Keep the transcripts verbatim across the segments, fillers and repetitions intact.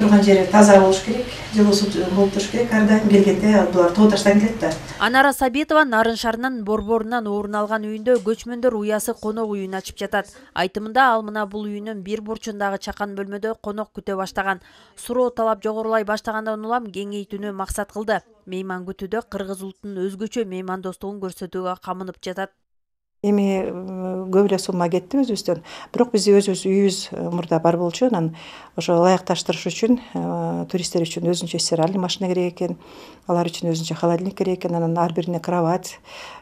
турган жери таза болуш керек, жылуу суу болуп туруш керек. Ар дайым келгенде булар тоо таштан келет да. Анара Сабитова Нарын шаарынын Борборунан орун алган үйүндө көчмөндөр уясы конок үйүн ачып жатат. Айтымында ал мына бул үйүнүн бир бурчундагы чакан бөлмөдө конок күтө баштаган. Суроо талап жогорулай баштагандан улам кеңейтүүнү максат кылды. Мейман күтүүдө кыргыз улутунун өзгөчө меймандостугун көрсөтүүгө камынып жатат. Эми көп эле сумма кетти өзүбүздөн. Бирок биз өзүбүз үйүбүз мурда бар болчу, анан ошо ылайыкташтырыш үчүн туристтер үчүн өзүнчө стиральный машина керек экен, алар үчүн өзүнчө холодильник керек экен, анан ар бирине кровать,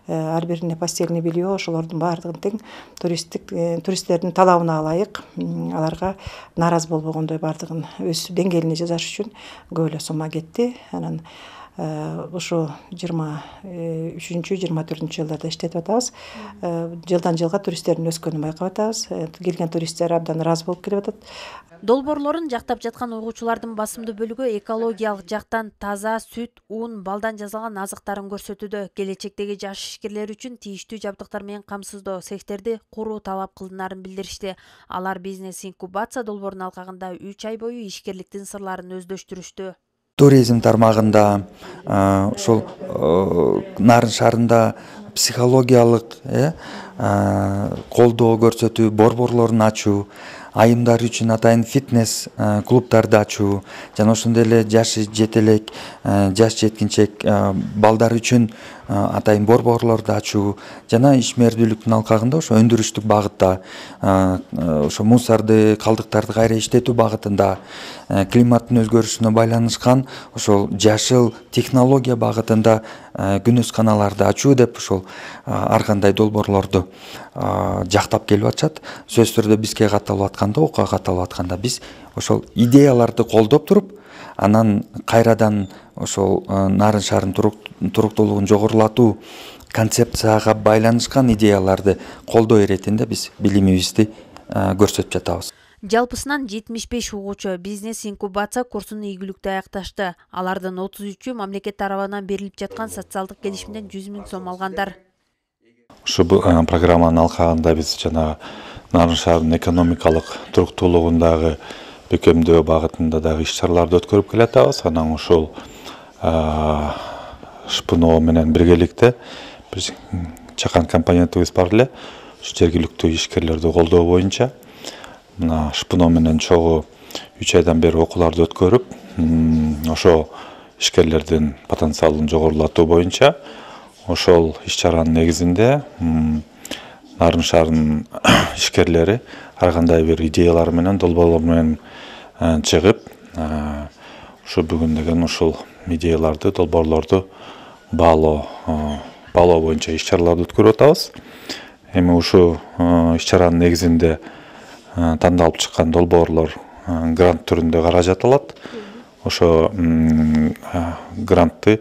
ар бирине постельный белье, ошолордун баардыгын тең туристтик туристтердин талабына ылайык аларга нааразы болбогондой баардыгын өз деңгээлине жасаш үчүн көп эле сумма кетти. Анан ошо жыйырма үчүнчү жыйырма төртүнчү жылдарда иштетип атабыз. Жылдан жылга туристтердин өскөнүн байкап атабыз. Келген туристтер абдан ыраазы болуп келип атат. Долбоорлорун жактап жаткан угуучулардын басымдуу бөлүгү экологиялык жактан таза сүт, ун, балдан жасалган азыктарын көрсөтүүдө. Келечектеги жаш ишкерлер үчүн тийиштүү жабдыктар менен камсыздоо цехтерди куруу талап кылынаарын билдиришти. Алар бизнес инкубация долбоорунун алкагында үч ай бою ишкерликтин сырларын өздөштүрүштү. Туризм тармагында ошол Нарын шаарында психологиялык колдоо көрсөтүү, борборлорун ачуу, айымдар үчүн атайын фитнес клубдарды ачуу, жана ошондой эле жашы жете элек, жаш жеткинчек балдар үчүн атайын борборлорду ачуу, жана ишмердүүлүктүн алкагында ошо өндүрүштүк багытта, ошо мусорду, калдыктарды кайра иштетүү багытында, климаттын өзгөрүшүнө байланышкан ошол жашыл технология багытында күнөсканаларды ачуу деп ошол ар кандай долбоорлорду жактап келип атышат. Сөзсүз түрдө бизге катталып атканда, окуга катталып атканда биз ошол идеяларды колдоп туруп, анан кайрадан ошол Нарын шаарынын туруктуулугун жогорулатуу концепцияга байланышкан идеяларды колдоо иретинде биз билимибизди көрсөтүп жатабыз. Жалпысынан жетимиш беш угуучу бизнес инкубация курсун ийгиликтүү аякташты. Алардын отуз үчү мамлекет тарабынан берилип жаткан социалдык келишимден жүз миң сом алгандар. Ушул программанын алкагында биз жана Нарын шаарынын экономикалык туруктуулугундагы бекемдөө багытында дагы иш-чараларды өткөрүп келатабыз. Анан ушул ШПНО менен биргеликте биз чакан компонентибиз бар эле. Ушу жергиликтүү ишкерлерди колдоо боюнча мына ШПНО менен чогуу үч айдан бери окууларды өткөрүп, ошо ишкерлердин потенциалын жогорулатуу боюнча ошол иш-чаранын негизинде Нарын шаарынын ишкерлери ар кандай бир идеялар менен, долбоорлор менен чыгып, ушу бүгүн деген ушул идеяларды, долбоорлорду баалоо баалоо боюнча иш-чараларды өткөрүп атабыз. Эми ушу иш-чаранын негизинде тандалып чыккан долбоорлор грант түрүндө каражат алат. Ошо грантты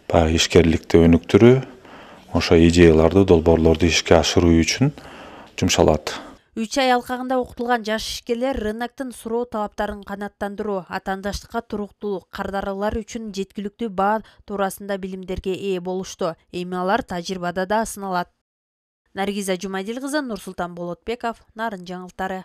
баягы ишкерликти өнүктүрүү, ошо идеяларды, долбоорлорду ишке ашыруу үчүн жумшалат. үч ай алкагында окутулган жаш ишкерлер рыноктун суроо талаптарын канааттандыруу, атаандаштыкка туруктуулук, кардаралар үчүн жеткиликтүү баа туурасында билимдерге ээ болушту. Эми алар тажрыйбада да сыналат. Наргиза Жумадил кызы, Нурсултан Болотбеков, Нарын жаңылыктары.